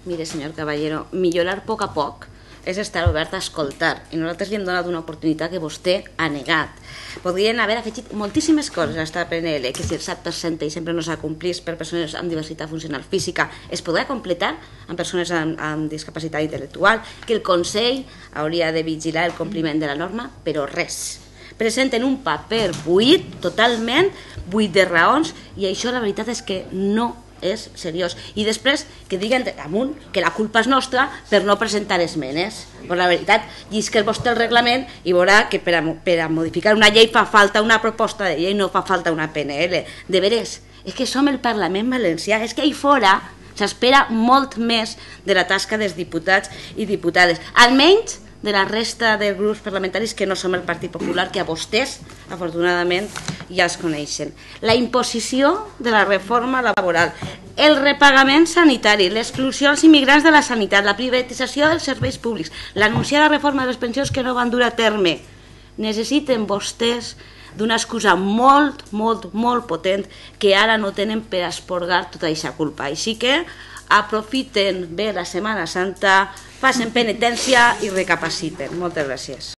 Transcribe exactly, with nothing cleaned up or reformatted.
Mire, senyor Caballero, millorar a poc a poc és estar obert a escoltar, i nosaltres li hem donat una oportunitat que vostè ha negat. Podrien haver afegit moltíssimes coses a esta P N L, que si el set per cent i sempre no s'acomplís per persones amb diversitat funcional física es podrà completar amb persones amb, amb discapacitat intel·lectual, que el Consell hauria de vigilar el compliment de la norma, però res. Presenten un paper buit, totalment buit de raons, i això la veritat és que no és seriós. I després que diguen damunt que la culpa és nostra per no presentar esmenes. Però la veritat, llisca vostè el reglament i veurà que per a, per a modificar una llei fa falta una proposta de llei, no fa falta una P N L. De veres, és que som el Parlament Valencià, és que ahí fora s'espera molt més de la tasca dels diputats i diputades. Almenys de la resta de grups parlamentaris que no som el Partit Popular, que a vostès, afortunadament, ja es coneixen. La imposició de la reforma laboral, el repagament sanitari, l'exclusió als immigrants de la sanitat, la privatització dels serveis públics, l'anunciada reforma de les pensions que no van dur a terme. Necessiten vostès d'una excusa molt, molt, molt potent que ara no tenen per esporgar tota aquesta culpa. Així que aprofiten bé la Setmana Santa, facin penitència i recapaciten. Moltes gràcies.